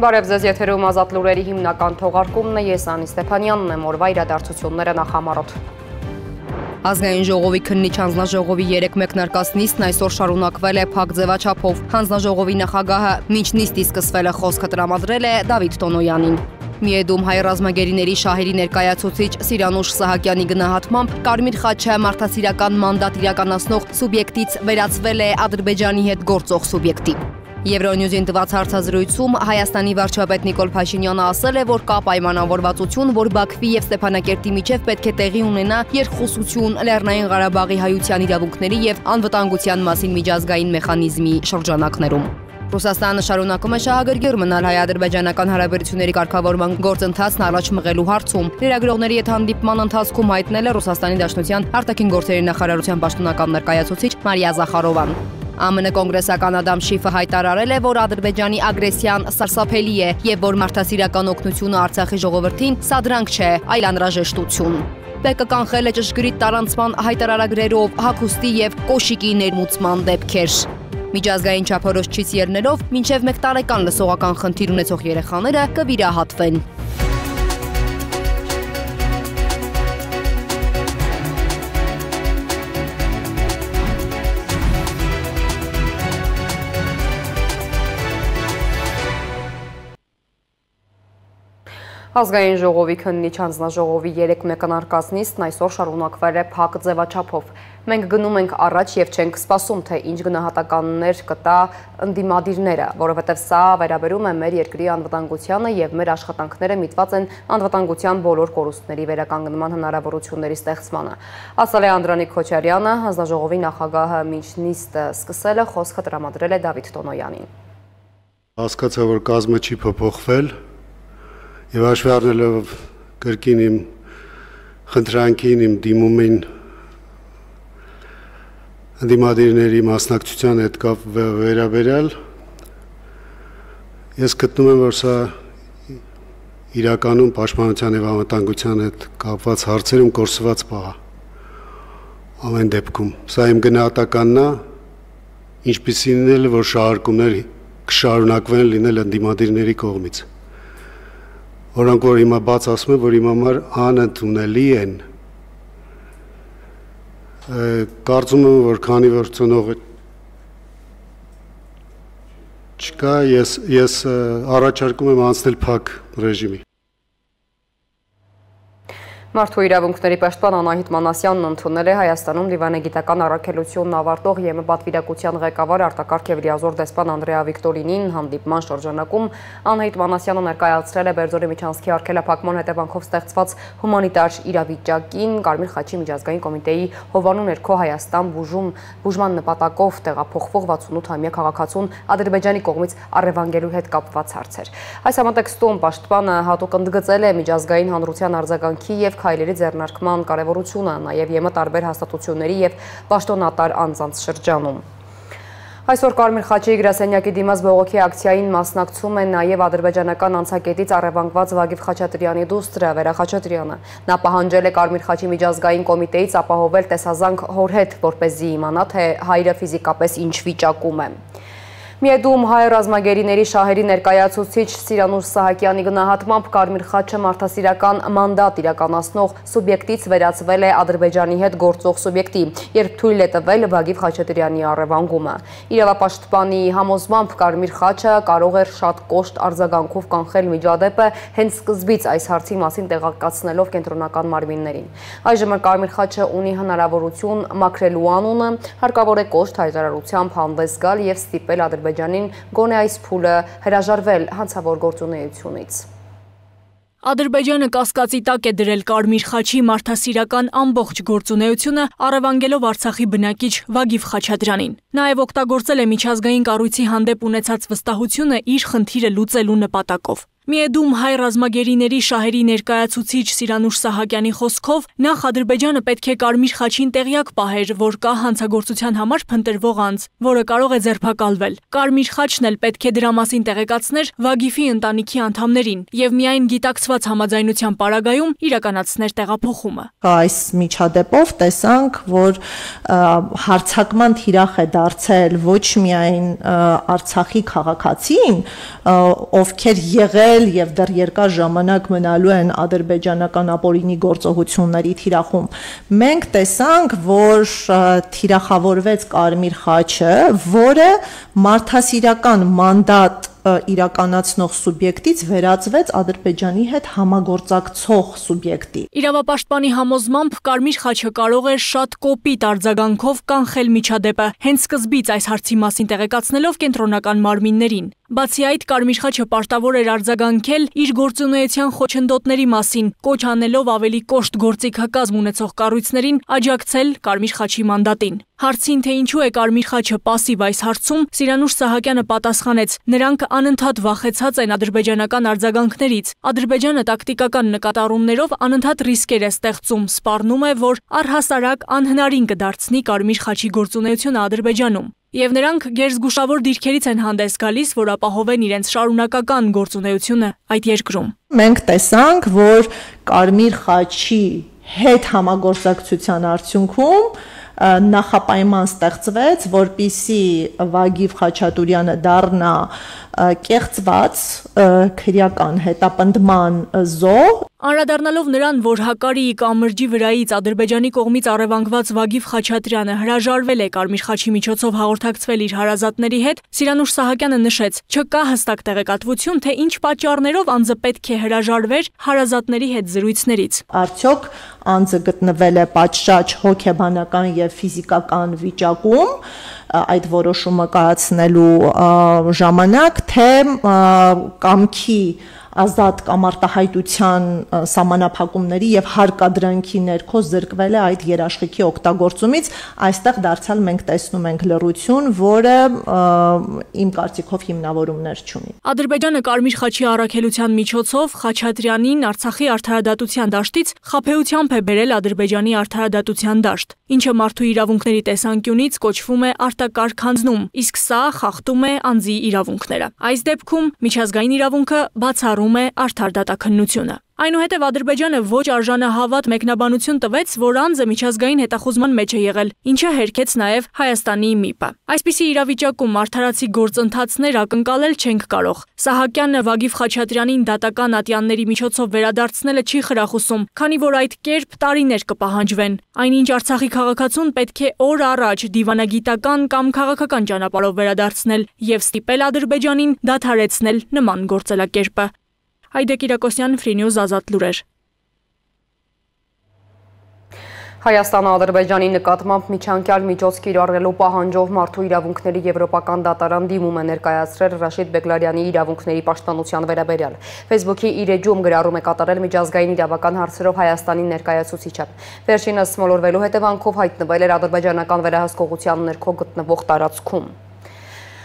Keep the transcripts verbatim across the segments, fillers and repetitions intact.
Բարև ձեզ, եթերում ազատ լուրերի հիմնական թողարկումն է, ես Անի Ստեփանյանն եմ, օրվա իրադարձությունները նախամարոտ։ Ազգային ժողովի քննիչ հանձնաժողովի երեք մեկնարկած նիստն այսօր շարունակվել է փակ ձևաչափով։ Հանձնաժողովի նախագահը մինչ նիստի սկսվելը խոսքը տրամադրել է Դավիթ Տոնոյանին։ Միեդում հայ ռազմագերիների շահերի ներկայացուցիչ Սիրանուշ Սահակյանի գնահատմամբ Կարմիր խաչը մարդասիրական մանդատ իրականացնող սուբյեկտից վերածվել է Ադրբեջանի հետ գործող սուբյեկտի։ Եվրոնյուզին տված հարցազրույցում Հայաստանի վարչապետ Նիկոլ Փաշինյանը ասել է, որ կա պայմանավորվածություն, որ Բաքվի եւ Ստեփանակերտի միջև պետք է տեղի ունենա երկխոսություն Լեռնային Ղարաբաղի հայության իրավունքների եւ անվտանգության մասին միջազգային մեխանիզմի շրջանակներում։ Ռուսաստանը շարունակում է շահագրգիռ մնալ հայ-ադրբեջանական հարաբերությունների կարգավորման գործընթացն առաջ մղելու հարցում։ Լրագրողների հետ հանդիպման ընթացքում հայտնել է Ռուսաստանի Դաշնության արտաքին գործերի նախարարության պաշտոնական ներկայացուցիչ Մարիա Զախարովան։ ԱՄՆ կոնգրեսական Ադամ Շիֆը հայտարարել է, որ Ադրբեջանի ագրեսիան սարսափելի է եւ որ մարդասիրական օգնությունը Արցախի ժողովրդին սադրանք չէ, այլ անհրաժեշտություն։ ՊԿ-ն կանխել է ճշգրիտ տարանցման հայտարարագրերով հագուստի եւ կոշիկի ներմուծման դեպքեր։ Միջազգային չափորոշիչից ելնելով մինչև մեկ տարեկան լսողական խնդիր ունեցող երեխաները կվիրահատվեն։ Ազգային ժողովի քննիչ հանձնաժողովի երեք մեկնարկած նիստն այսօր շարունակվել է փակ ձևաչափով։ Մենք գնում ենք առաջ եւ չենք սպասում, թե ինչ գնահատականներ կտա ընդդիմադիրները, որովհետեւ սա վերաբերում է մեր երկրի անվտանգությանը եւ մեր աշխատանքները միտված են անվտանգության բոլոր կորուստների վերականգնման հնարավորությունների ստեղծմանը։ Ասել է Անդրանիկ Քոչարյանը, հանձնաժողովի նախագահը մինչ նիստը սկսել է խոսքը տրամադրել է Դավիթ Տոնոյանին։ Հասկացա, որ կազմը չի փոփոխվել։ Եվ հաշվի առնելով կրկին իմ խնդրանքին, իմ դիմումին ընդդիմադիրների մասնակցության հետ կապ վերաբերյալ, ես գտնում եմ, որ սա իրականում պաշտպանության եւ անվտանգության հետ կապված հարցերում կորսված պահ է։ Ամեն դեպքում սա իմ գնահատականն է, ինչպիսին էլ որ շահարկումներ կշարունակվեն լինել ընդդիմադիրների կողմից։ Որոնք որ հիմա բաց ասում են, որ իմ համար անընդունելի են։ Կարծում եմ, որ քանի որ ծնողը չկա, ես ես առաջարկում եմ անցնել փակ ռեժիմի։ Մարդու իրավունքների պաշտպան Անահիտ Մանասյանն ընդունել է Հայաստանում դիվանագիտական առաքելությունն ավարտող ԵՄ պատվիրակության ղեկավար արտակարգ եւ լիազոր դեսպան Անդրեա Վիկտորինին հանդիպման շրջանակում Անահիտ Մանասյանը ներկայացրել է Բերձորի միջանցքի արգելափակման հետևանքով ստեղծված հումանիտար իրավիճակին Կարմիր խաչի միջազգային կոմիտեի հովանու ներքո Հայաստան բուժում բուժման նպատակով տեղափոխվող վաթսունութամյա քաղաքացուն Ադրբեջանի կողմից առևանգելու հետ կապված հարցեր։ Այս համատեքստում պաշտպանը հատուկ ընդգծել է միջազգային հանրության արձագանքի եւ քայլերի ձեռնարկման կարևորությունը, նաև ԵՄ տարբեր հաստատությունների եւ պաշտոնատար անձանց շրջանում։ Այսօր Կարմիր խաչի գրասենյակի դիմաց բողոքի ակցիային մասնակցում են նաև ադրբեջանական անցակետից առևանգված Վագիվ Խաչատրյանի դուստրը Վերա Խաչատրյանը։ Նա պահանջել է Կարմիր խաչի միջազգային կոմիտեից ապահովել տեսազանք հոր հետ, որպեսզի իմանա, թե հայրը ֆիզիկապես ինչ վիճակում է։ Միեդում հայ ռազմագերիների շահերի ներկայացուցիչ Սիրանուշ Սահակյանի գնահատմամբ Կարմիր խաչը մարդասիրական մանդատ իրականացնող սուբյեկտից վերածվել է Ադրբեջանի հետ գործող սուբյեկտի, երբ թույլ է տվել Վագիվ Խաչատրյանի առևանգումը։ Իրավապաշտպանի համոզմամբ Կարմիր խաչը կարող էր շատ կոշտ արձագանքով կանխել միջադեպը հենց սկզբից այս հարցի մասին տեղեկացնելով կենտրոնական մարմիններին։ Այժմ Կարմիր խաչը ունի հնարավորություն մաքրելու անունը, հարկավոր է կոշտ հայտարարությամբ հանդես գալ եւ ստիպել Ադրբեջանին գոնե այս փուլը հրաժարվել հանցավոր գործունեությունից։ Ադրբեջանը կասկածի տակ է դրել Կարմիր խաչի մարդասիրական ամբողջ գործունեությունը առևանգելով Արցախի բնակիչ Վագիվ Խաչատրյանին։ Նաև օգտագործել է միջազգային կառույցի հանդեպ ունեցած վստահությունը իր խնդիրը լուծելու նպատակով։ Միեդում հայ ռազմագերիների շահերի ներկայացուցիչ Սիրանուշ Սահակյանի խոսքով նախ Ադրբեջանը պետք է Կարմիր խաչին տեղյակ պահեր, որ կա հանցագործության համար փնտրվող անձ, որը կարող է ձերբակալվել։ Կարմիր խաչն էլ պետք է դրա մասին տեղեկացներ Վագիֆի ընտանիքի անդամներին եւ միայն գիտակցված համաձայնության պարագայում իրականացներ տեղափոխումը։ Այս միջադեպով տեսանք, որ հարձակման թիրախ է դարձել ոչ միայն Արցախի քաղաքացին, ովքեր եղել եւ դեռ երկար ժամանակ մնալու են ադրբեջանական ապօրինի գործողությունների թիրախում։ Մենք տեսանք, որ թիրախավորվեց Կարմիր խաչը, որը մարդասիրական մանդատ իրականացնող սուբյեկտից վերածվեց Ադրբեջանի հետ համագործակցող սուբյեկտի։ Իրավապաշտպանի համոզմամբ Կարմիր խաչը կարող է շատ կոպիտ արձագանքով կանխել միջադեպը, հենց սկզբից այս հարցի մասին տեղեկացնելով կենտրոնական մարմիններին։ Բացի այդ, Կարմիր խաչը պարտավոր էր արձագանքել իր գործունեության խոչընդոտների մասին, կոչ անելով ավելի կոշտ գործիքակազմ ունեցող կառույցներին աջակցել Կարմիր խաչի մանդատին։ Հարցին, թե ինչու է Կարմիր խաչը պասիվ այս հարցում, Սիրանուշ Սահակյանը պատասխանեց. նրանք անընդհատ վախեցած են ադրբեջանական արձագանքներից։ Ադրբեջանը տակտիկական նկատառումներով անընդհատ ռիսկեր է ստեղծում, սպառնում է, որ առհասարակ անհնարին կդարձնի Կարմիր խաչի գործունեությունը Ադրբեջանում։ Եվ նրանք գերզգուշավոր դիրքերից են հանդես գալիս, որ ապահովեն իրենց շարունակական գործունեությունը այդ երկրում։ Մենք տեսանք, որ Կարմիր խաչի հետ համագործակցության արդյունքում նախապայման ստեղծվեց, որպիսի Վագիվ Խաչատուրյանը դառնա կեղծված քրեական հետապնդման զոհ։ Անդրադառնալով նրան, որ Հակարիի կամրջի վրայից Ադրբեջանի կողմից առևանգված Վագիվ Խաչատրյանը հրաժարվել է Կարմիր խաչի միջոցով հաղորդակցվել իր հարազատների հետ, Սիրանուշ Սահակյանը նշեց, չկա հստակ տեղեկատվություն, թե ինչ պատճառներով անձը պետք է հրաժարվեր հարազատների հետ զրույցներից։ Արդյոք անձը գտնվել է պատշաճ հոգեբանական եւ ֆիզիկական վիճակում այդ որոշումը կայացնելու ժամանակ, թե կամքի ազատ կամ արտահայտության սահմանափակումների եւ հարկադրանքի ներքո զրկվել է այդ երաշխիքի օգտագործումից, այստեղ դարձյալ մենք տեսնում ենք լռություն, որը իմ կարծիքով հիմնավորումներ չունի։ Ադրբեջանը Կարմիր խաչի առաքելության միջոցով Խաչատրյանին Արցախի արդարադատության դաշտից խաբեությամբ է բերել Ադրբեջանի արդարադատության դաշտ, ինչը մարդու իրավունքների տեսանկյունից կոչվում է արտակարգ հանձնում, իսկ սա խախտում է անձի իրավունքները։ Այս դեպքում միջազգային իրավունքը բացառում է արդար դատաքննությունը։ Այնուհետև Ադրբեջանը ոչ արժանահավատ մեկնաբանություն տվեց, որ անձը միջազգային հետախուզման մեջ է եղել, ինչը հերքեց նաև Հայաստանի ՄԻՊ-ը։ Այսպիսի իրավիճակում արդարացի գործընթացներ ակնկալել չենք կարող։ Սահակյանը Վագիվ Խաչատրյանին դատական ատյանների միջոցով վերադարձնելը չի խրախուսում, քանի որ այդ կերպ տարիներ կպահանջվեն։ Այնինչ Արցախի քաղաքացուն պետք է օր առաջ դիվանագիտական կամ քաղաքական ճանապարհով վերադարձնել եւ ստիպել Ադրբեջանին դադարեցնել նման գործելակերպը։ Այդե Կիրակոսյան, Free News, Ազատ լուրեր։ Հայաստանը Ադրբեջանի նկատմամբ միջանկյալ միջոց կիրառելու պահանջով մարդու իրավունքների եվրոպական դատարան դիմում է ներկայացրել Ռաշիդ Բեգլարյանի իրավունքների պաշտպանության վերաբերյալ։ Facebook-ի իր էջում գրառում է կատարել միջազգային իրավական հարցերով Հայաստանի ներկայացուցիչը։ Վերջինս մոլորվելու հետևանքով հայտնվել էր ադրբեջանական վերահսկողության ներքո գտնվող տարածքում։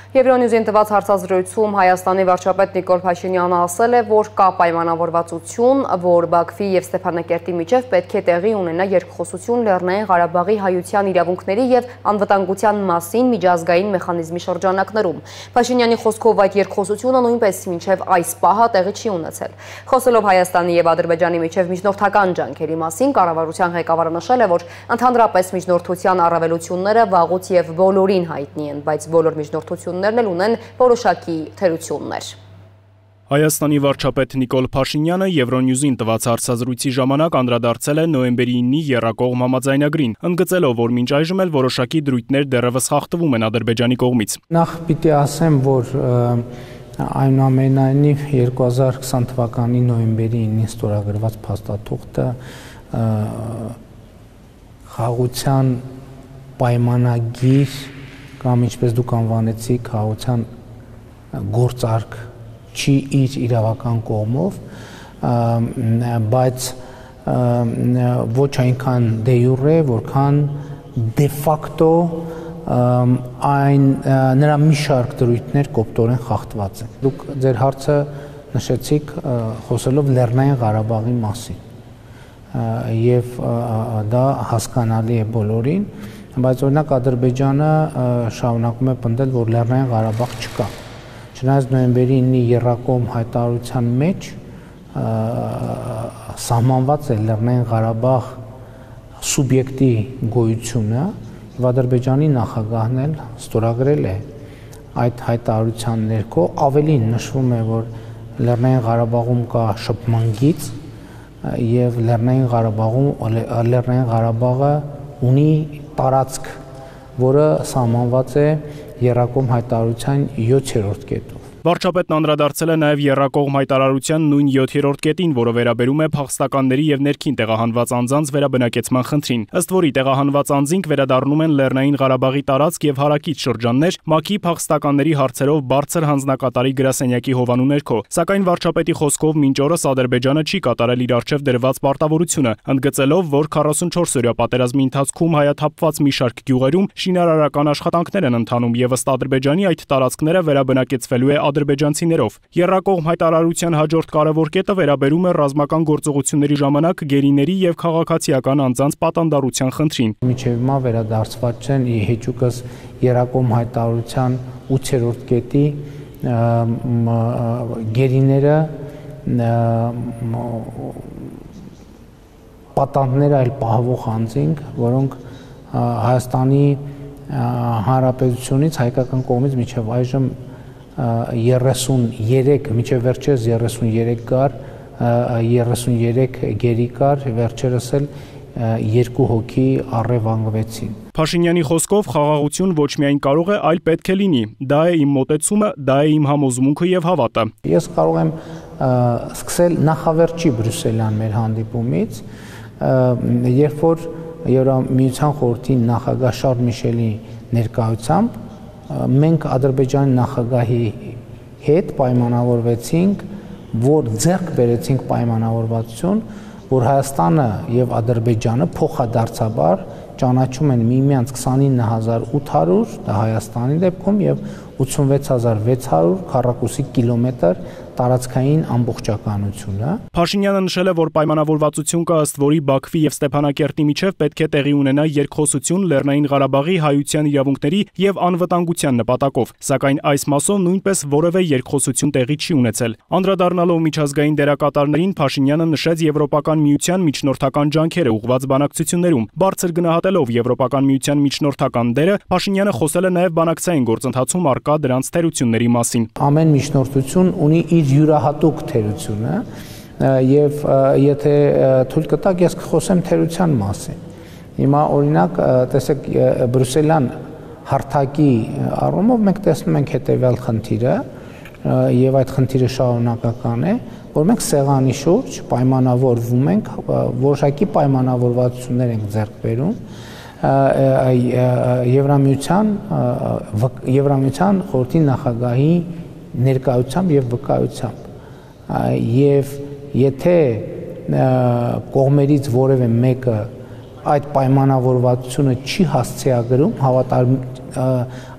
Եվրոնյուզին տված հարցազրույցում Հայաստանի վարչապետ Նիկոլ Փաշինյանը ասել է, որ կա պայմանավորվածություն, որ Բաքվի եւ Ստեփանակերտի միջև պետք է տեղի ունենա երկխոսություն Լեռնային Ղարաբաղի հայության իրավունքների եւ անվտանգության մասին միջազգային մեխանիզմի շրջանակներում։ Փաշինյանի խոսքով այդ երկխոսությունը նույնպես մինչև այս պահը տեղի չի ունեցել։ Խոսելով Հայաստանի եւ Ադրբեջանի միջև միջնորդական ջանքերի մասին, կառավարության ղեկավարը նշել է, որ ընդհանրապես միջնորդության առավելությունները վաղուց եւ բոլորին հայտնի են, բայց բոլոր միջնորդությունները ունեն որոշակի թերություններ։ Հայաստանի վարչապետ Նիկոլ Փաշինյանը Եվրոնյուզին տված հարցազրույցի ժամանակ անդրադարձել է նոյեմբերի իննի եռակողմ համաձայնագրին, ընդգծելով, որ մինչ այժմ էլ որոշակի դրույթներ դեռևս խախտվում են Ադրբեջանի կողմից։ Նախ պիտի ասեմ, որ այնուամենայնիվ երկու հազար քսան թվականի նոյեմբերի իննին ստորագրված փաստաթուղթը խաղաղության պայմանագիր կամ ինչպես դուք անվանեցիք խաղաղության գործարք չի իր իրավական կողմով, բայց ոչ այնքան դե յուրե, որքան դե ֆակտո այն նրա մի շարք դրույթներ կոպտորեն խախտված են։ Դուք ձեր հարցը նշեցիք խոսելով Լեռնային Ղարաբաղի մասին եւ դա հասկանալի է բոլորին, բայց օրինակ Ադրբեջանը շարունակում է պնդել, որ Լեռնային Ղարաբաղ չկա։ Չնայած նոյեմբերի ինի եռակողմ հայտարարության մեջ սահմանված է Լեռնային Ղարաբաղ սուբյեկտի գոյությունը, եւ Ադրբեջանի նախագահն էլ ստորագրել է այդ հայտարարության ներքո, ավելին նշվում է, որ Լեռնային Ղարաբաղում կա շփման գիծ եւ Լեռնային Ղարաբաղում Լեռնային Ղարաբաղը ունի տարածք, որը սահմանված է եռակողմ հայտարարության յոթերորդ կետով։ Վարչապետն անդրադարձել է նաև եռակողմ հայտարարության նույն յոթերորդ կետին, որը վերաբերում է փախստականների եւ ներքին տեղահանված անձանց վերաբնակեցման խնդրին, ըստ որի տեղահանված անձինք վերադառնում են Լեռնային Ղարաբաղի տարածք եւ հարակից շրջաններ ՄԱԿ-ի փախստականների հարցերով բարձր հանձնակատարի գրասենյակի հովանու ներքո, սակայն վարչապետի խոսքով մինչ օրս Ադրբեջանը չի կատարել իր առջև դրված պարտավորությունը, ընդգծելով, որ քառասունչորս օրյա պատերազմի ընթացքում հայաթափված մի շարք գյուղերում շինարարական աշխատանքներ են ընթանում եւ ըստ Ադրբեջանի այդ տարածքները վերաբնակեցվելու է ադրբեջանցիներով։ Եռակողմ հայտարարության հաջորդ կարևոր կետը վերաբերում է ռազմական գործողությունների ժամանակ գերիների եւ քաղաքացիական անձանց պատանդառության խնդրին։ Մինչեւ հիմա վերադարձված չեն հեճուկս եռակողմ հայտարարության ութերորդ կետի գերիները պատանդներ այլ պահվող անձինք, որոնք Հայաստանի Հանրապետությունից հայկական կողմից մինչև այժմ երեսուներեք, մինչև վերջերս երեսուներեք կար, երեսուներեք գերի կար, վերջերս էլ երկու հոգի առևանգվեցին։ Փաշինյանի խոսքով խաղաղություն ոչ միայն կարող է, այլ պետք է լինի։ Դա է իմ մոտեցումը, դա է իմ համոզմունքը եւ հավատը։ Ես կարող եմ սկսել նախավերջի Բրյուսելյան մեր հանդիպումից, երբ որ Եվրամիության խորհրդի նախագահ Շարլ Միշելի ներկայությամբ մենք Ադրբեջանի նախագահի հետ պայմանավորվեցինք, որ ձեռք բերեցինք պայմանավորվածություն, որ Հայաստանը եւ Ադրբեջանը փոխադարձաբար ճանաչում են միմյանց քսանինը հազար ութ հարյուր, դա Հայաստանի դեպքում եւ ութսունվեց հազար վեց հարյուր քառակուսի կիլոմետր տարածքային ամբողջականությունը։ Փաշինյանը նշել է, որ պայմանավորվածություն կա, ըստ որի Բաքվի եւ Ստեփանակերտի միջև պետք է տեղի ունենա երկխոսություն Լեռնային Ղարաբաղի հայության իրավունքների եւ անվտանգության նպատակով, սակայն այս մասով նույնպես որևէ երկխոսություն տեղի չի ունեցել։ Անդրադառնալով միջազգային դերակատարներին, Փաշինյանը նշեց Եվրոպական միության միջնորդական ջանքերը ուղղված բանակցություններում։ Բարձր գնահատելով Եվրոպական միության միջնորդական դերը, Փաշինյանը խոսել է նաեւ բանակցային գործընթացում առկա դրանց թերությունների մասին։ Ամեն միջնորդություն ունի իր յուրահատուկ թերությունը եւ եթե թույլ կտակ ես կխոսեմ թերության մասին։ Հիմա օրինակ տեսեք Բրյուսելյան հարթակի առումով մենք տեսնում ենք հետեւյալ խնդիրը եւ այդ խնդիրը շարունակական է, որ մենք սեղանի շուրջ պայմանավորվում ենք, որոշակի պայմանավորվածություններ ենք ձեռք բերում Եվրամիության Եվրամիության խորհրդի նախագահի ներկայությամբ եւ վկայությամբ եւ եթե կողմերից որևէ մեկը այդ պայմանավորվածությունը չի հասցեագրում, հավատալ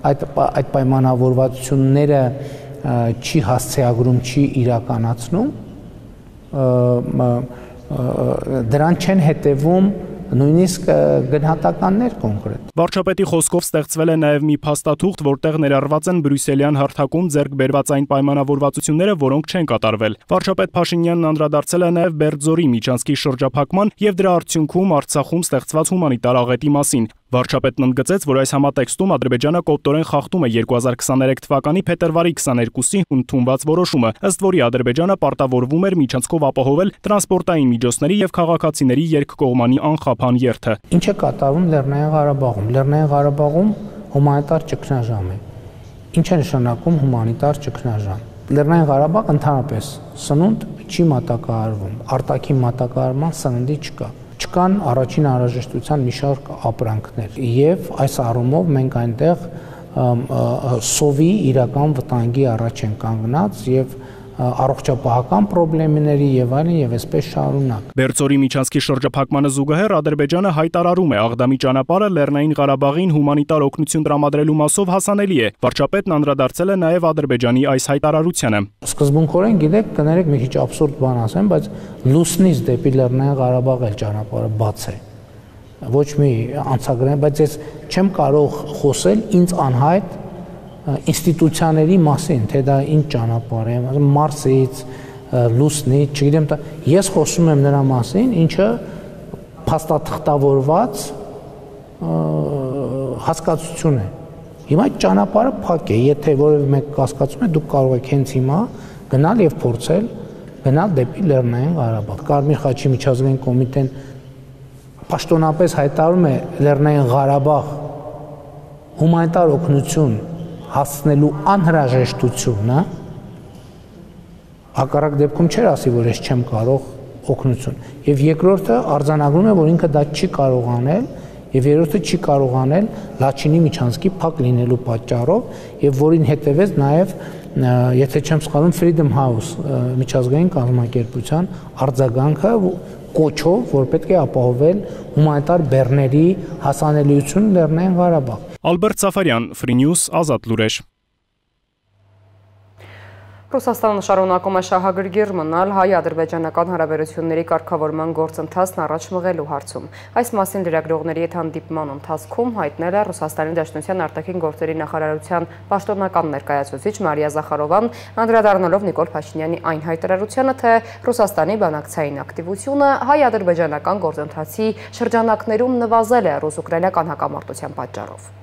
այդ այդ պայմանավորվածությունները չի հասցեագրում, չի իրականացնում, դրան չեն հետևում նույնիսկ գնահատականներ կոնկրետ։ Վարչապետի խոսքով ստեղծվել է նաև մի փաստաթուղթ, որտեղ ներառված են Բրյուսելյան հարթակում ձեռք բերված այն պայմանավորվածությունները, որոնք չեն կատարվել։ Վարչապետ Փաշինյանն անդրադարձել է նաև Բերձորի միջանցքի շրջափակման եւ դրա արդյունքում Արցախում ստեղծված հումանիտար աղետի մասին։ Վարչապետն ընդգծեց, որ այս համատեքստում Ադրբեջանը կոպտորեն խախտում է երկու հազար քսաներեք թվականի փետրվարի քսաներկուսի ընդունված որոշումը, ըստ որի Ադրբեջանը պարտավորվում էր միջանցքով ապահովել տրանսպորտային միջոցների եւ քաղաքացիների երկկողմանի անխափան երթը։ Ինչ է կատարվում Լեռնային Ղարաբաղում։ Լեռնային Ղարաբաղում հումանիտար ճգնաժամ է։ Ինչ է նշանակում հումանիտար ճգնաժամ։ Լեռնային Ղարաբաղ ընդհանրապես սնունդ չի մատակարարվում, արտաքին մատակարարման սննդի չկա։ Չկան առաջին անհրաժեշտության մի շարք ապրանքներ եւ այս առումով մենք այնտեղ սովի իրական վտանգի առաջ են կանգնած եւ առողջապահական խնդիրների եւ այլն եւ այսպես շարունակ։ Բերձորի միջանցքի շրջափակմանը զուգահեռ Ադրբեջանը հայտարարում է Աղդամի ճանապարհը Լեռնային Ղարաբաղին հումանիտար օգնություն տրամադրելու մասով հասանելի է։ Վարչապետն անդրադարձել է նաեւ Ադրբեջանի այս հայտարարությանը։ Սկզբունքորեն գիտեք, կներեք մի քիչ աբսուրդ բան ասեմ, բայց լուսնից դեպի Լեռնային Ղարաբաղ էլ ճանապարհը բաց է։ Ոչ մի անցագրեն, բայց ես չեմ կարող խոսել ինձ անհայտ ինստիտուցիաների մասին, թե դա ինչ ճանապարհ է, Մարսից, լուսնից, չգիտեմ, ես խոսում եմ նրա մասին, ինչը փաստաթղթավորված հասկացություն է։ Հիմա այդ ճանապարհը փակ է, եթե որևէ մեկ կասկածում է, դուք կարող եք հենց հիմա գնալ եւ փորձել գնալ դեպի Լեռնային Ղարաբաղ։ Կարմիր խաչի միջազգային կոմիտեն պաշտոնապես հայտարարում է Լեռնային Ղարաբաղ հումանիտար օգնություն հասցնելու անհրաժեշտությունը, հակառակ դեպքում չէր ասի, որ ես չեմ կարող օգնություն։ Եվ երկրորդը արձանագրում է, որ ինքը դա չի կարող անել, եւ երրորդը չի կարող անել Լաչինի միջանցքի փակ լինելու պատճառով, եւ որին հետեւեց նաեւ, եթե չեմ սխալվում, Freedom House միջազգային կազմակերպության արձագանքը կոչով, որ պետք է ապահովել հումանիտար բեռների հասանելիություն Լեռնային Ղարաբաղ։ Ալբերտ Սաֆարյան, Free News, Ազատ լուրեր։ Ռուսաստանը շարունակում է շահագրգիռ մնալ հայ-ադրբեջանական հարաբերությունների կարգավորման գործընթացն առաջ մղելու հարցում։ Այս մասին լրագրողների հետ հանդիպման ընթացքում հայտնել է Ռուսաստանի Դաշնության արտաքին գործերի նախարարության պաշտոնական ներկայացուցիչ Մարիա Զախարովան, անդրադառնալով Նիկոլ Փաշինյանի այն հայտարարությանը, թե Ռուսաստանի բանակցային ակտիվությունը հայ-ադրբեջանական գործընթացի շրջանակներում նվազել է ռուս-ուկրաինական հակամարտության պատճառով։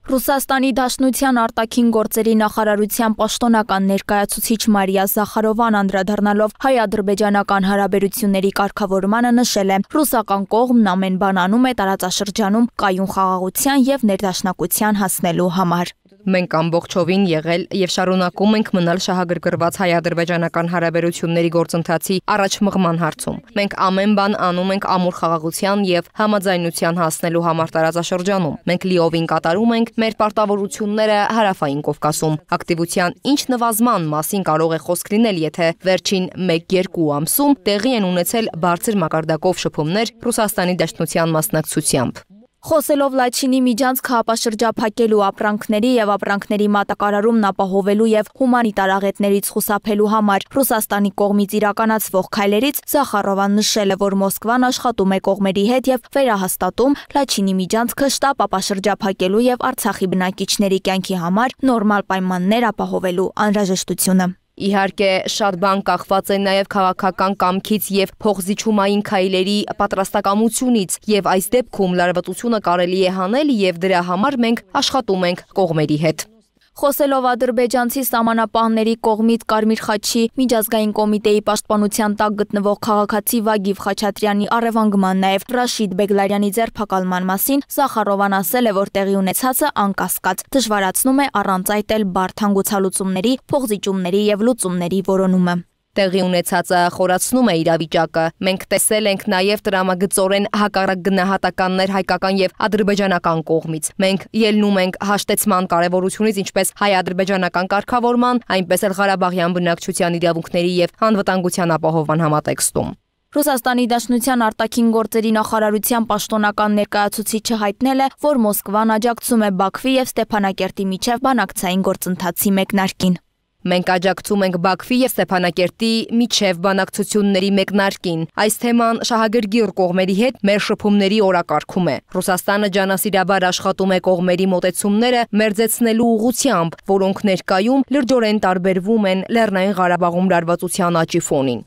Ռուսաստանի Դաշնության արտաքին գործերի նախարարության պաշտոնական ներկայացուցիչ Մարիա Զախարովան անդրադառնալով հայ-ադրբեջանական հարաբերությունների կարգավորմանը նշել է. ռուսական կողմն ամեն բան անում է տարածաշրջանում կայուն խաղաղության եւ ներդաշնակության հասնելու համար։ Մենք ամբողջովին եղել եւ շարունակում ենք մնալ շահագրգռված հայ-ադրբեջանական հարաբերությունների գործընթացի առաջմղման հարցում։ Մենք ամեն բան անում ենք ամուր խաղաղության եւ համաձայնության հասնելու համար տարածաշրջանում։ Մենք լիովին կատարում ենք մեր պարտավորությունները Հարավային Կովկասում։ Ակտիվության ինչ նվազման մասին կարող է խոսք լինել, եթե վերջին մեկ-երկու ամսում տեղի են ունեցել բարձր մակարդակով շփումներ Ռուսաստանի Դաշնության մասնակցությամբ։ Խոսելով Լաչինի միջանցքը ապաշրջափակելու ապրանքների եւ ապրանքների մատակարարումն ապահովելու եւ հումանիտար աղետներից խուսափելու համար Ռուսաստանի կողմից իրականացվող քայլերից Զախարովան նշել է, որ Մոսկվան աշխատում է կողմերի հետ եւ վերահաստատում Լաչինի միջանցքը շտապ ապաշրջափակելու եւ Արցախի բնակիչների կյանքի համար նորմալ պայմաններ ապահովելու անհրաժեշտությունը։ Իհարկե, շատ բան կախված է նաև քաղաքական կամքից եւ փոխզիջումային քայլերի պատրաստակամությունից, եւ այս դեպքում լարվածությունը կարելի է հանել եւ դրա համար մենք աշխատում ենք կողմերի հետ։ Խոսելով ադրբեջանցի սահմանապահների կողմից Կարմիր խաչի միջազգային կոմիտեի պաշտպանության տակ գտնվող քաղաքացի Վագիվ Խաչատրյանի առևանգման նաև Ռաշիդ Բեգլարյանի ձերբակալման մասին Զախարովան ասել է, որ տեղի ունեցածը անկասկած դժվարացնում է առանց այդ էլ բարդ հանգուցալուծումների, փոխզիջումների եւ լուծումների որոնումը։ Տեղի ունեցածը խորացնում է իրավիճակը։ Մենք տեսել ենք նաև տրամագծորեն հակառակ գնահատականներ հայկական եւ ադրբեջանական կողմից։ Մենք ելնում ենք հաշտեցման կարևորությունից ինչպես հայ-ադրբեջանական կարգավորման, այնպես էլ Ղարաբաղյան բնակչության իրավունքների եւ անվտանգության ապահովման համատեքստում։ Ռուսաստանի Դաշնության արտաքին գործերի նախարարության պաշտոնական ներկայացուցիչը հայտնել է, որ Մոսկվան աջակցում է Բաքվի եւ Ստեփանակերտի միջև բանակցային գործընթացի մեկնարկին։ Մենք աջակցում ենք Բաքվի եւ Ստեփանակերտի միջև բանակցությունների մեկնարկին։ Այս թեման շահագրգիռ կողմերի հետ մեր շփումների օրակարգում է։ Ռուսաստանը ջանասիրաբար աշխատում է կողմերի մոտեցումները մերձեցնելու ուղղությամբ, որոնք ներկայում լրջորեն տարբերվում են Լեռնային Ղարաբաղում լարվածության աճի ֆոնին։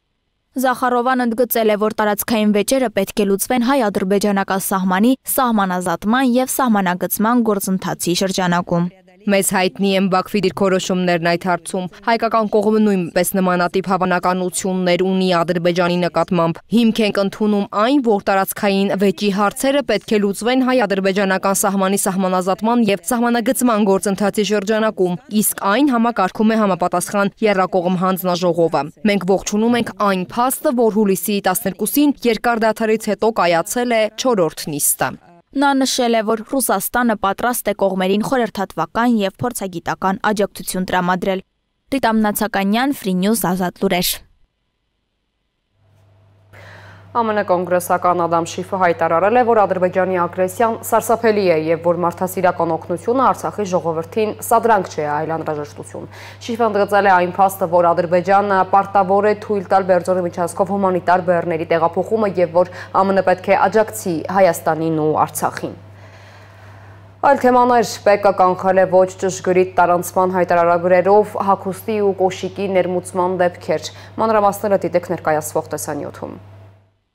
Զախարովան ընդգծել է, որ տարածքային վեճերը պետք է լուծվեն հայ-ադրբեջանական սահմանի, սահմանազատման եւ սահմանագծման գործընթացի շրջանակում։ Մեզ հայտնի են Բաքվի դիրքորոշումներն այդ հարցում։ Հայկական կողմը նույնպես նմանատիպ հավանականություններ ունի Ադրբեջանի նկատմամբ։ Հիմք ենք ընդունում այն, որ տարածքային վեճի հարցերը պետք է լուծվեն հայ-ադրբեջանական սահմանի սահմանազատման եւ սահմանագծման գործընթացի շրջանակում, իսկ այն համակարգում է համապատասխան եռակողմ հանձնաժողովը։ Մենք ողջունում ենք այն փաստը, որ հուլիսի տասներկուսին երկար դադարից հետո կայացել է չորրորդ նիստը։ Նա նշել է, որ Ռուսաստանը պատրաստ է կողմերին խորհրդատվական եւ փորձագիտական աջակցություն տրամադրել։ Ռիտա Մնացականյան, Free News, Ազատ լուրեր։ ԱՄՆ կոնգրեսական Ադամ Շիֆը հայտարարել է, որ Ադրբեջանի ագրեսիան սարսափելի է և որ մարդասիրական օգնությունը Արցախի ժողովրդին սադրանք չէ, այլ անհրաժեշտություն։ Շիֆը ընդգծել է այն փաստը, որ Ադրբեջանը պարտավոր է թույլ տալ Բերձորի միջանցքով հումանիտար բեռների տեղափոխումը և որ ԱՄՆ պետք է աջակցի Հայաստանին ու Արցախին։ Այլ թեմաներ ՊԵԿ-ը կանխել է ոչ ճշգրիտ տարանցման հայտարարագրերով հագուստի ու կոշիկի ներմուծման դեպքեր։ Մանրամասները դիտեք ներկայացվող տեսանյութում։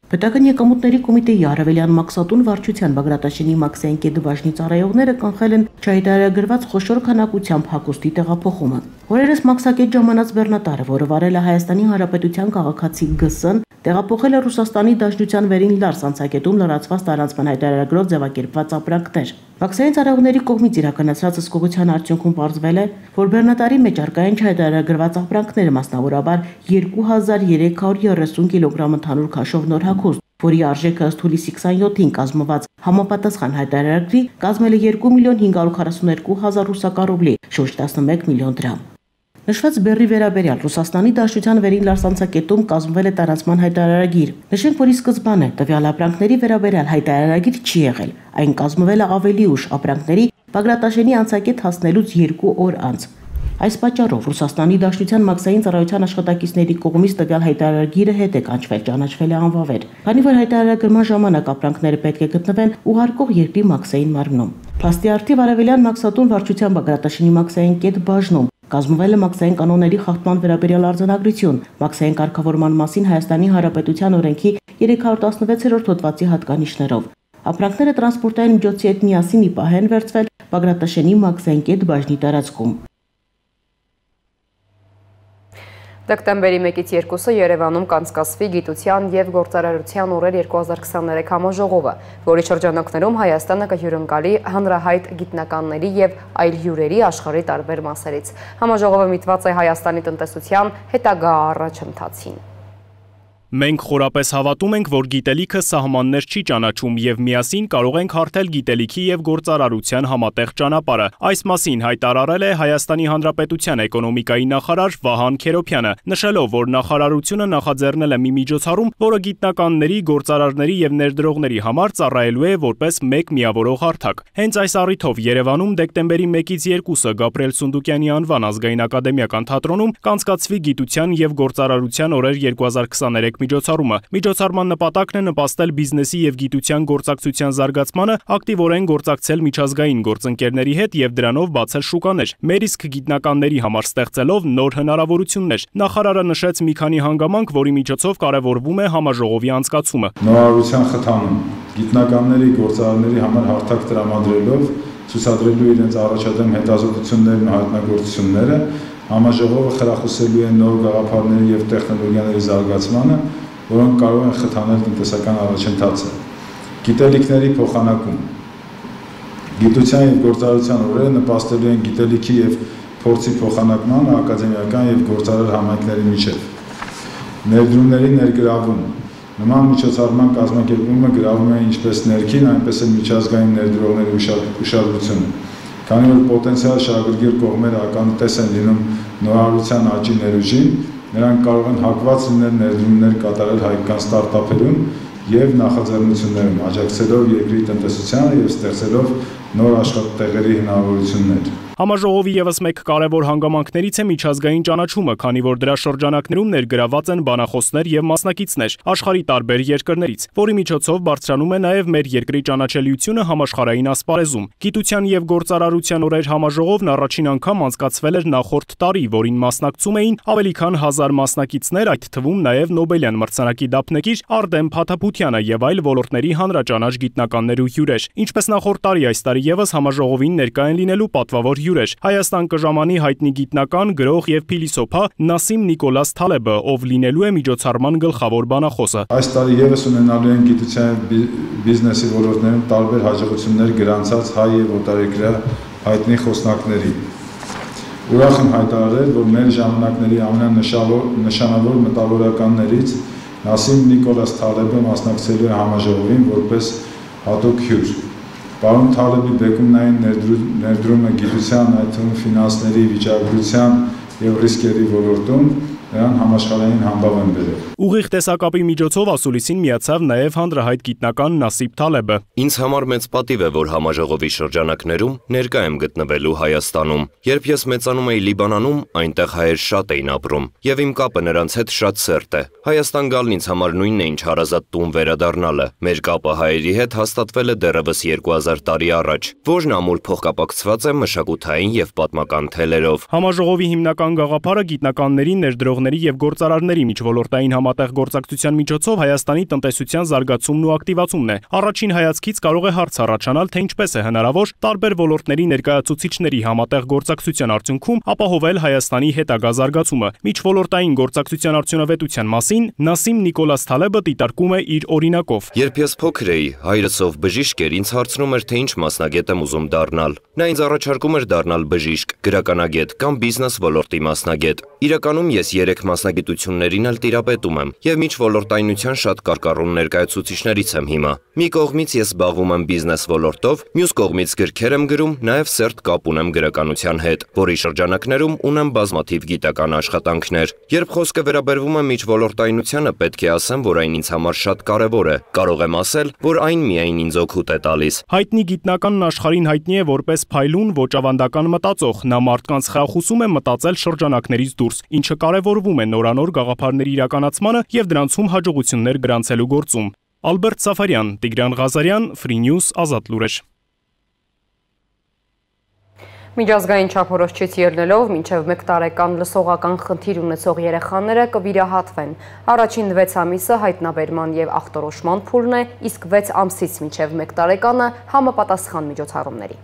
Պետական եկամուտների կոմիտեի արևելյան մաքսատուն վարչության Բագրատաշենի Մաքսային կեդբաժնի ծառայողները կանխել են չհայտարարագրված խոշոր քանակությամբ հագուստի տեղափոխումը։ Օրերս մաքսակետ ժամանած բեռնատարը, որը վարել է Հայաստանի Հանրապետության քաղաքացի Գ-ն, տեղափոխել է Ռուսաստանի Դաշնության վերին Լարս անցակետում լրացված տարանցման հայտարարագրով ձևակերպված ապրանքներ։ Մաքսային ծառայողների կողմից իրականացրած ըսկողության արդյունքում պարզվել է, որ բեռնատարի մեջ առկա են չհայտարարագրված ապրանքները, մասնավորաբար երկու հազար երեք հարյուր երեսուն կիլոգրամ ընդհանուր քաշով նոր հագուստ, որի արժեքը ըստ հուլիսի քսանյոթին կազմված համապատասխան հայտարարագրի կազմել է երկու միլիոն հինգ հարյուր քառասունութ հազար ռուսական ռուբլի, շուրջ տասնմեկ միլիոն դրամ։ Նշված բեռի վերաբերյալ Ռուսաստանի Դաշնության վերին Լարս անցակետում կազմվել է տարանցման հայտարարագիր։ Նշենք, որ ի սկզբանե տվյալ ապրանքների վերաբերյալ հայտարարագիր չի եղել, այն կազմվել է ավելի ուշ ապրանքների Բագրատաշենի անցակետ հասնելուց երկու օր անց։ Այս պատճառով Ռուսաստանի Դաշնության մաքսային ծառայության աշխատակիցների կողմից տվյալ հայտարարագիրը հետ է կանչվել, ճանաչվել է անվավեր, քանի որ հայտարարագրման ժամանակ ապրանքները պետք է գտնվեն ուղարկող երկրի մաքսային մարմնում։ Փաստի առթիվ արևելյան մաքսատուն վարչության Բագրատաշենի մաքսային կեդբաժնում կազմվել է մաքսային կանոնների խախտման վերաբերյալ արձանագրություն, մաքսային կարգավորման մասին Հայաստանի Հանրապետության օրենքի երեք հարյուր տասնվեցերորդ հոդվածի հատկանիշներով։ Ապրանքները տրանսպորտային միջոցի հետ միասին ի պահ են վերցվել Բագրատաշենի մաքսային կեդբաժնի տարածքում։ Դեկտեմբերի մեկից երկուսը Երևանում կանցկացվի գիտության և գործարարության օրեր երկու հազար քսաներեք համաժողովը, որի շրջանակներում Հայաստանը կհյուրընկալի հանրահայտ գիտնականների և այլ հյուրերի աշխարհի տարբեր մասերից։ Համաժողովը միտված է Հայաստանի տնտեսության հետագա առաջընթացին։ Մենք խորապես հավատում ենք, որ գիտելիքը սահմաններ չի ճանաչում և միասին կարող ենք հարթել գիտելիքի և գործարարության համատեղ ճանապարհը։ Այս մասին հայտարարել է Հայաստանի Հանրապետության էկոնոմիկայի նախարար Վահան Քերոբյանը, նշելով, որ նախարարությունը նախաձեռնել է մի միջոցառում, որը գիտնականների, գործարարների և ներդրողների համար ծառայելու է որպես մեկ միավորող հարթակ։ Հենց այս առիթով Երևանում դեկտեմբերի մեկից երկուսը Գաբրիել Սունդուկյանի անվան ազգային ակադեմիական թատրոնում կանցկացվի գիտության և գործարարության օրեր երկու հազար քսաներեք միջոցառումը։ Միջոցառման նպատակն է նպաստել բիզնեսի և գիտության գործակցության զարգացմանը, ակտիվորեն գործակցել միջազգային գործընկերների հետ և դրանով բացել շուկաներ, մեր իսկ գիտնականների համար ստեղծելով նոր հնարավորություններ։ Նախարարը նշեց մի քանի հանգամանք, որի միջոցով կարևորվում է համաժողովի անցկացումը։ Նորարարության խթանում, գիտնականների, գործարարների համար հարթակ տրամադրելով, ցուցադրելու իրենց առաջադեմ հետազոտություններն ու հայտնագործությունները, համաժողովը խրախուսելու է նոր գաղափարների և տեխնոլոգիաների զարգացմանը, որոնք կարող են խթանել տնտեսական առաջընթացը։ Գիտելիքների փոխանակում։ Գիտության և գործարարության օրերը նպաստելու են գիտելիքի և փորձի փոխանակմանը ակադեմիական և գործարար համայնքների միջև։ Ներդրումների ներգրավում։ Նման միջոցառման կազմակերպումը գրավում է ինչպես ներքին, այնպես էլ միջազգային ներդրողների ուշադրությունը, քանի որ պոտենցիալ շահագրգիռ կողմերը ականատես են լինում նորարարության աճի ներուժին, նրանք կարող են հակված լինել ներդրումներ կատարել հայկական ստարտափերում և նախաձեռնություններում, աջակցելով երկրի տնտեսությանը և ստեղծելով նոր աշխատատեղերի հնարավորություններ։ Համաժողովի ևս մեկ կարևոր հանգամանքներից է միջազգային ճանաչումը, քանի որ դրա շրջանակներում ներգրաված են բանախոսներ և մասնակիցներ աշխարհի տարբեր երկրներից, որի միջոցով բարձրանում է նաև մեր երկրի ճանաչելիությունը համաշխարհային ասպարեզում։ Գիտության և գործարարության օրեր համաժողովն առաջին անգամ անցկացվել էր նախորդ տարի, որին մասնակցում էին ավելի քան հազար մասնակիցներ, այդ թվում նաև Նոբելյան մրցանակի դափնեկիր Արտեմ Փաթափությանը և այլ ոլորտների հանրաճանաչ գիտնականներ ու հյուրեր։ Ինչպես նախորդ տարի, այս տարի ևս համաժողովին ներկա են լինելու պատվավոր հյուրեր։ Հայաստան կժամանի հայտնի գիտնական, գրող և փիլիսոփա Նասիմ Նիկոլաս Թալեբը, ով լինելու է միջոցառման գլխավոր բանախոսը։ Այս տարի ևս ունենալու են գիտության և բիզնեսի ոլորտներում տարբեր հաջողություններ գրանցած հայ և օտարերկրյա հայտնի խոսնակների։ Ուրախ եմ հայտարարել, որ մեր ժամանակների ամենանշանավոր մտավորականներից Նասիմ Նիկոլաս Թալեբը մասնակցելու է համաժողովին որպես հատուկ հյուր։ Պարոն Թալեբի բեկումնային ներդրումը գիտության, այդ թվում ֆինանսների, վիճակագրության, եւ ռիսկերի ոլորտում նրան համաշխարհային համբավ են բերել։ Ուղիղ տեսակապի միջոցով ասուլիսին միացավ նաև հանրահայտ գիտնական Նասիբ Թալեբը։ Ինձ համար մեծ պատիվ է, որ համաժողովի շրջանակներում ներկա եմ գտնվելու Հայաստանում։ Երբ ես մեծանում էի Լիբանանում, այնտեղ հայեր շատ էին ապրում, եւ իմ կապը նրանց հետ շատ սերտ է։ Հայաստան գալն ինձ համար նույնն է, ինչ հարազատ տուն վերադառնալը։ Մեր կապը հայերի հետ հաստատվել է դեռևս երկու հազար տարի առաջ, որն ամուր փոխկապակցված է մշակութային եւ պատմական թելերով։ Համաժողովի հիմնական գաղափարը գիտնականների, ներդրողների եւ գործարարների միջոլորտային համատեղ գործակցության միջոցով Հայաստանի տնտեսության զարգացումն ու ակտիվացումն է։ Առաջին հայացքից կարող է հարց առաջանալ, թե ինչպես է հնարավոր տարբեր ոլորտների ներկայացուցիչների համատեղ գործակցության արդյունքում ապահովել Հայաստանի հետագա զարգացումը։ Միջոլորտային գործակցության արդյունավետության մասին Նասիմ Նիկոլաս Թալեբը դիտարկում է իր օրինակով։ Երբ ես փոքր էի, հայրս ով բժիշկ էր, ինձ հարցնում էր, թե ինչ մասնագետ եմ ուզում դառնալ։ Նա ինձ առաջարկում էր դառնալ բժիշկ, գրականագետ կամ բիզնես ոլորտի մասնագետ։ Իրականում ես երեք մասնագիտություններին էլ տիրապետում եմ եւ միջոլորտայնության շատ կարկառուն ներկայացուցիչներից եմ հիմա։ Մի կողմից ես զբաղվում եմ բիզնես ոլորտով, մյուս կողմից գրքեր եմ գրում, նաեւ սերտ կապ ունեմ գրականության հետ, որի շրջանակներում ունեմ բազմաթիվ գիտական աշխատանքներ։ Երբ խոսքը վերաբերվում է միջոլորտայնությանը, պետք է ասեմ, որ այն ինձ համար շատ կարեւոր է։ Կարող եմ ասել, որ այն միայն ինձ օգուտ է տալիս։ Հայտնի գիտնականն աշխարհին հայտնի է որպես փայլուն, ոչ ավանդական մտածող։ Նա մարդկանց խրախուսում է մտածել շրջանակներից դուրս, ինչը կարևորվում է նորանոր գաղափարների իրականացմանը եւ դրանցում հաջողություններ գրանցելու գործում։ Ալբերտ Սաֆարյան, Տիգրան Ղազարյան, Free News, Ազատ լուրեր։ Միջազգային չափորոշիչից ելնելով մինչև մեկ տարեկան լսողական խնդիր ունեցող երեխաները կվիրահատվեն։ Առաջին վեց ամիսը հայտնաբերման եւ ախտորոշման փուլն է, իսկ վեց ամսից մինչև մեկ տարեկանը համապատասխան միջոցառումների։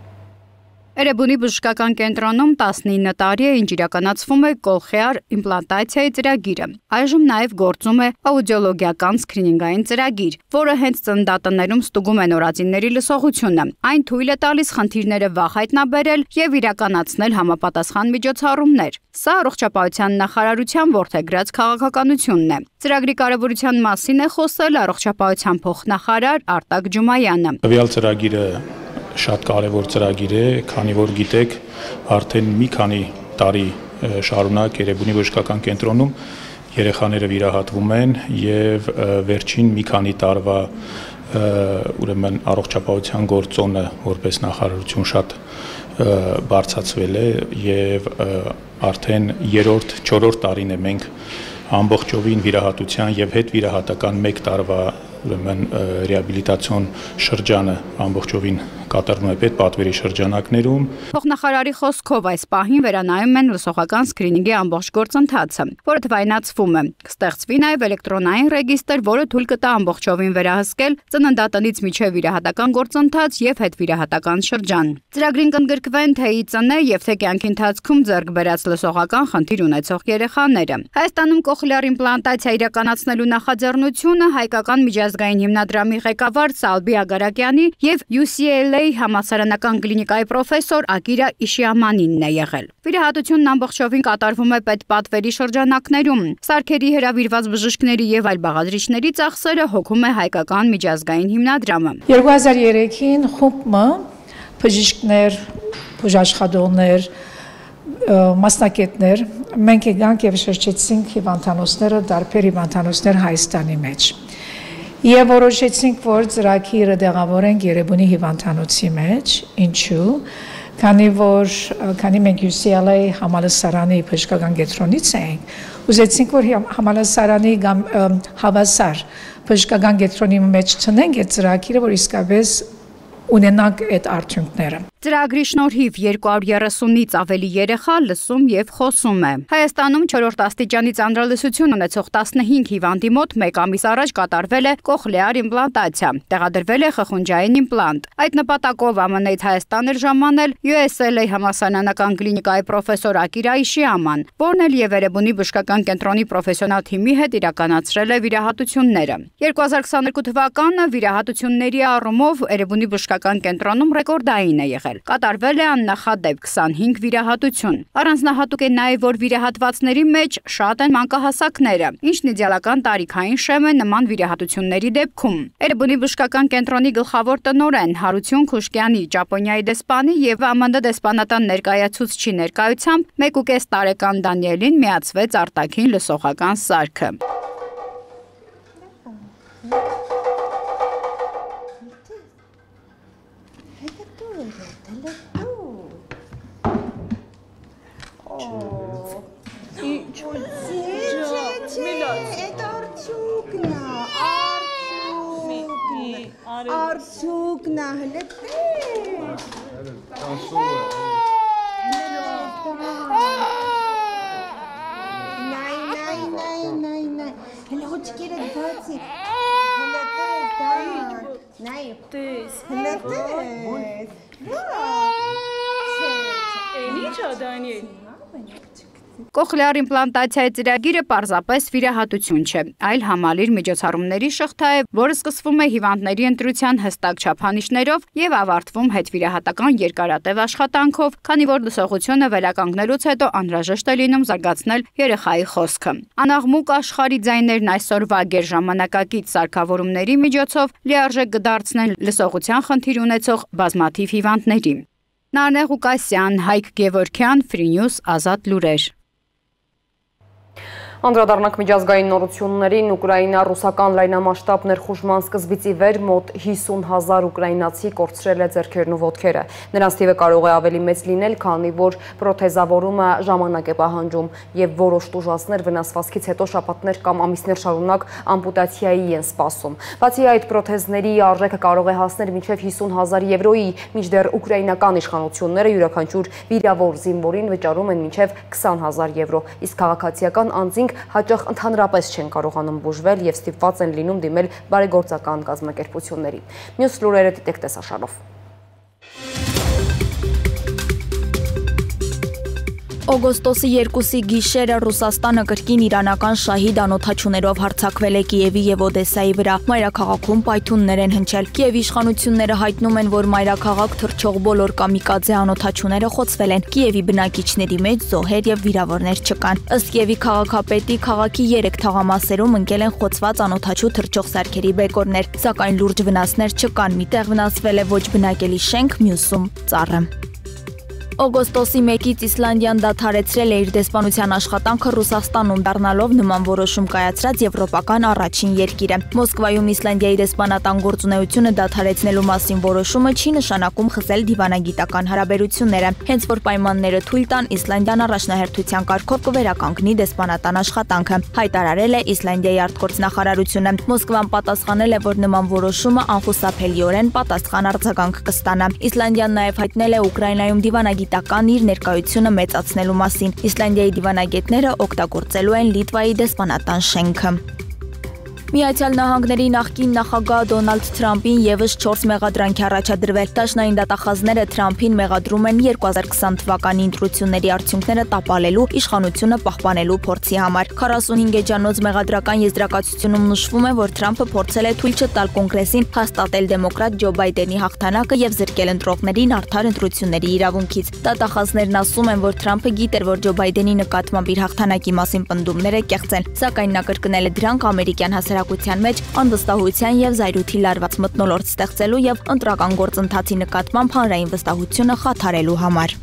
Էրեբունի բժշկական կենտրոնում տասնինը տարի է, ինչ իրականացվում է կողխեար իմպլանտացիայի ծրագիրը։ Այժմ նաև գործում է աուդիոլոգիական սկրինինգային ծրագիր, որը հենց ծննդատներում ստուգում է նորածինների լսողությունը։ Այն թույլ է տալիս խնդիրները վաղ հայտնաբերել եւ իրականացնել համապատասխան միջոցառումներ։ Սա առողջապահության նախարարության որդեգրած քաղաքականությունն է։ Ծրագրի կարևորության մասին է խոսել առողջապահության փոխնախարար Արտակ Ջումայանը։ Տվյալ ծրագիրը շատ կարևոր ծրագիր է, քանի որ գիտեք, արդեն մի քանի տարի շարունակ Էրեբունի բժշկական կենտրոնում երեխաները վիրահատվում են եւ վերջին մի քանի տարվա ուրեմն առողջապահության գործոնը որպես նախարարություն շատ բարձրացվել է եւ արդեն երրորդ, չորրորդ տարին է մենք ամբողջովին վիրահատության եւ հետ վիրահատական մեկ տարվա ուրեմն ռեաբիլիտացիոն շրջանը ամբողջովին կատարվում է պետպատվերի շրջանակներում։ Փոխնախարարի խոսքով այս պահին վերանայում են լսողական սկրինինգի ամբողջ գործընթացը, որը թվայնացվում է։ Կստեղծվի նաև էլեկտրոնային ռեգիստր, որը թույլ կտա ամբողջովին վերահսկել ծննդատնից մինչև վիրահատական գործընթաց եւ հետվիրահատական շրջան։ Ծրագրին կընդգրկվեն թե ԻԾՆ եւ թե կյանքի ընթացքում ձեռք բերած լսողական խնդիր ունեցող երեխաները։ Հայաստանում կոխլեար իմպլանտացիա իրականացնելու նախաձեռնությունը հայկական միջազգային հիմնադրամի ղեկավար Սալբի Ագարակյանի եւ յու սի էլ էյ համալսարանական կլինիկայի պրոֆեսոր Ակիրա Իշիամանինն է եղել։ Վիրահատությունն ամբողջովին կատարվում է պետպատվերի շրջանակներում։ Սարքերի հրավիրված բժիշկների եւ այլ բաղադրիչների ծախսերը հոգում է հայկական միջազգային հիմնադրամը։ երկու հազար երեքին խումբը բժիշկներ, բուժաշխատողներ, մասնակիցներ մենք եկանք եւ շրջեցինք հիվանդանոցները, դարբեր հիվանդանոցներ Հայաստանի մեջ։ Եվ որոշեցինք, որ ծրագիրը դեղավորենք Էրեբունի հիվանդանոցի մեջ, ինչու, քանի որ քանի մենք յու սի էլ էյ համալսարանի բժշկական կենտրոնից ենք, ուզեցինք, որ համալսարանի հավասար բժշկական կենտրոնի մեջ չնենք այդ ծրագիրը, որ իսկապես ունենանք այդ արդյունքները։ Ծրագրի շնորհիվ երկու հարյուր երեսունից ավելի երեխա լսում եւ խոսում է։ Հայաստանում չորրորդ աստիճանի ծանրալսություն ունեցող տասնհինգ հիվանդի մոտ մեկ ամիս առաջ կատարվել է կոխլեար իմպլանտացիա, տեղադրվել է խխունջային իմպլանտ։ Այդ նպատակով Ամն Էից Հայաստան էր ժամանել յու էս էլ էյ համալսարանական կլինիկայի պրոֆեսոր Ակիրա Իշիաման, որն էլ եւ Էրեբունի բժշկական կենտրոնի պրոֆեսիոնալ թիմի հետ իրականացրել է վիրահատությունները։ երկու հազար քսաներկու թվականը վիրահատությունների առումով Էրեբունի բժշկական կենտրոնում ռեկորդային է եղել։ կատարվել։ Կատարվել է աննախադեպ քսանհինգ վիրահատություն։ Առանձնահատուկ է նաև, որ վիրահատվածների մեջ շատ են մանկահասակները, ինչն իդեալական տարիքային շեմ է նման վիրահատությունների դեպքում։ Էրեբունի բժշկական կենտրոնի գլխավոր տնօրեն Հարություն Քուշկյանի, Ճապոնիայի դեսպանի եւ Ա Մ Դ դեսպանատան ներկայացուցչի ներկայությամբ մեկ ու կես տարեկան Դանիելին միացվեց արտաքին լսողական սարքը։ Արցուկնա հլե Նայ, նայ, նայ, նայ, նայ Հլե հոչկերը բացի Հլե տես, դան Նայ, տես Հլե տես Են իչա, Դանիել Կոխլեար իմպլանտացիայի ծրագիրը պարզապես վիրահատություն չէ, այլ համալիր միջոցառումների շղթա է, որը սկսվում է հիվանդների ընտրության հստակ չափանիշներով եւ ավարտվում հետվիրահատական երկարատև աշխատանքով, քանի որ լսողությունը վերականգնելուց հետո անհրաժեշտ է լինում զարգացնել երեխայի խոսքը։ Անաղմուկ աշխարհի ձայներն այսօրվա գերժամանակակից սարքավորումների միջոցով լիարժեք կդարձնեն լսողության խնդիր ունեցող բազմաթիվ հիվանդների։ Նարնե Ղուկասյան, Հայկ Գևորգյան, Free News, Ազատ լուրեր։ Անդրադառնանք միջազգային նորություններին, Ուկրաինա-ռուսական լայնամասշտաբ ներխուժման սկզբից ի վեր մոտ հիսուն հազար ուկրաինացի կորցրել է ձեռքերն ու ոտքերը։ Նրանց թիվը կարող է ավելի մեծ լինել, քանի որ պրոթեզավորումը ժամանակ է պահանջում եւ որոշ տուժածներ վնասվածքից հետո շաբաթներ կամ ամիսներ շարունակ ամպուտացիայի են սպասում։ Բացի այդ, պրոթեզների արժեքը կարող է հասնել մինչև հիսուն հազար եվրոյի, մինչդեռ ուկրաինական իշխանությունները յուրաքանչյուր վիրավոր զինվորին վճարում են մինչև քսան հազար եվրո, իսկ քաղաքացիական անձինք հաճախ ընդհանրապես չեն կարողանում բուժվել եւ ստիպված են լինում դիմել բարեգործական կազմակերպությունների։ Մյուս լուրերը դիտեք տեսաշարով։ Օգոստոսի երկուսի գիշերը Ռուսաստանը կրկին իրանական շահիդ անօդաչուներով հարձակվել է Կիևի եւ Օդեսայի վրա։ Մայրաքաղաքում պայթյուններ են հնչել։ Կիևի իշխանությունները հայտնում են, որ մայրաքաղաք թռչող բոլոր կամիկաձե անօդաչուները խոցվել են։ Կիևի բնակիչների մեջ զոհեր եւ վիրավորներ չկան։ Ըստ Կիևի քաղաքապետի, քաղաքի երեք թաղամասերում ընկել են խոցված անօդաչու թռչող սարքերի բեկորներ, սակայն լուրջ վնասներ չկան։ Միտեղ վնասվել է ոչ բնակելի շենք, մյուսում ծառը։ Օգոստոսի մեկից Իսլանդիան դադարեցրել է իր դեսպանության աշխատանքը Ռուսաստանում, դառնալով նման որոշում կայացրած եվրոպական առաջին երկիրը։ Մոսկվայում Իսլանդիայի դեսպանատան գործունեությունը դադարեցնելու մասին որոշումը չի նշանակում խզել դիվանագիտական հարաբերությունները։ Հենց որ պայմանները թույլ տան, Իսլանդիան առաջնահերթության կարգով կվերականգնի դեսպանատան աշխատանքը, հայտարարել է Իսլանդիայի արտգործնախարարությունը։ Մոսկվան պատասխանել է, որ նման որոշումը անխուսափելիորեն պատասխան արձագանք կստանա։ Իսլանդիան նաև հայտնել է Ուկրաինայում դիվանագիտական իր ներկայությունը մեծացնելու մասին։ Իսլանդիայի դիվանագետները օգտագործելու են Լիտվայի դեսպանատան շենքը։ Միացյալ Նահանգների նախկին նախագահ Դոնալդ Թրամփին եւս չորս մեղադրանք է առաջադրվել։ Դաշնային դատախազները Թրամփին մեղադրում են երկու հազար քսան թվականի ընտրությունների արդյունքները տապալելու, իշխանությունը պահպանելու փորձի համար։ քառասունհինգ էջանոց մեղադրական եզրակացությունում նշվում է, որ Թրամփը փորձել է թույլ չտալ կոնգրեսին հաստատել դեմոկրատ Ջո Բայդենի հաղթանակը եւ զրկել ընտրողներին արդար ընտրությունների իրավունքից։ Դատախազներն ասում են, որ Թրամփը գիտեր, որ Ջո Բայդենի նկատմամբ իր հաղթանակի մասին պնդումներ է կեղծել, սակայն նա կրկնել է դրանք ամերիկյան հասարակության մեջ անվստահության եւ զայրույթի լարված մթնոլորտ ստեղծելու եւ ընտրական գործընթացի նկատմամբ հանրային վստահությունը խաթարելու համար։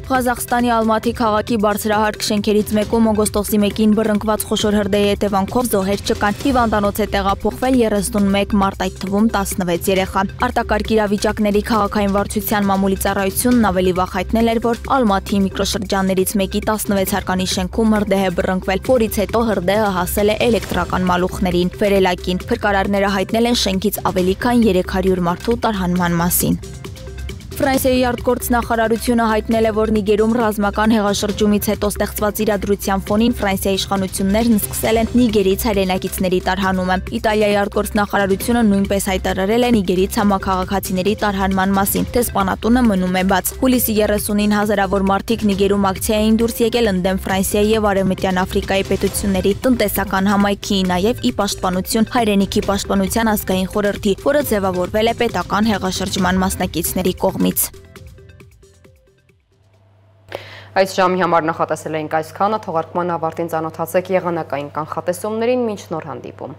Ղազախստանի Ալմաթի քաղաքի բարձրահարկ շենքերից մեկում օգոստոսի մեկին բռնկված խոշոր հրդեհի հետևանքով զոհեր չկան։ Հիվանդանոց է տեղափոխվել երեսունմեկ մարդ, այդ թվում տասնվեց երեխա։ Արտակարգ իրավիճակների քաղաքային վարչության մամուլի ծառայությունն ավելի վաղ հայտնել էր, որ Ալմաթի միկրոշրջաններից մեկի տասնվեց հարկանի շենքում հրդեհ է բռնկվել, որից հետո հրդեհը հասել է էլեկտրական մալուխներին։ Վերելակին փրկարարները հայտնել են շենքից ավելի քան երեք հարյուր մարդու տարհանման մասին։ Ֆրանսիայի արտգործնախարարությունը հայտնել է, որ Նիգերում ռազմական հեղաշրջումից հետո ստեղծված իրադրության ֆոնին Ֆրանսիայի իշխանություններն սկսել են Նիգերից հայրենակիցների տարհանումը։ Իտալիայի արտգործնախարարությունը նույնպես հայտարարել է Նիգերից համաքաղաքացիների տարհանման մասին։ Դեսպանատունը մնում է բաց։ Հուլիսի երեսունին հազարավոր մարդիկ Նիգերում ակցիա էին դուրս եկել ընդդեմ Ֆրանսիայի եւ Արևմտյան Աֆրիկայի պետությունների տնտեսական համայնքի, նաեւ ի պաշտպանություն հայրենիքի պաշտպանության ազգային խորհրդի, որը ձևավորվել է պետական հեղաշրջման մասնակիցների կողմից։ կողմից։ Այս ժամի համար նախատեսել էինք այսքանը, թողարկման ավարտին ծանոթացեք եղանակային կանխատեսումներին, մինչ նոր հանդիպում։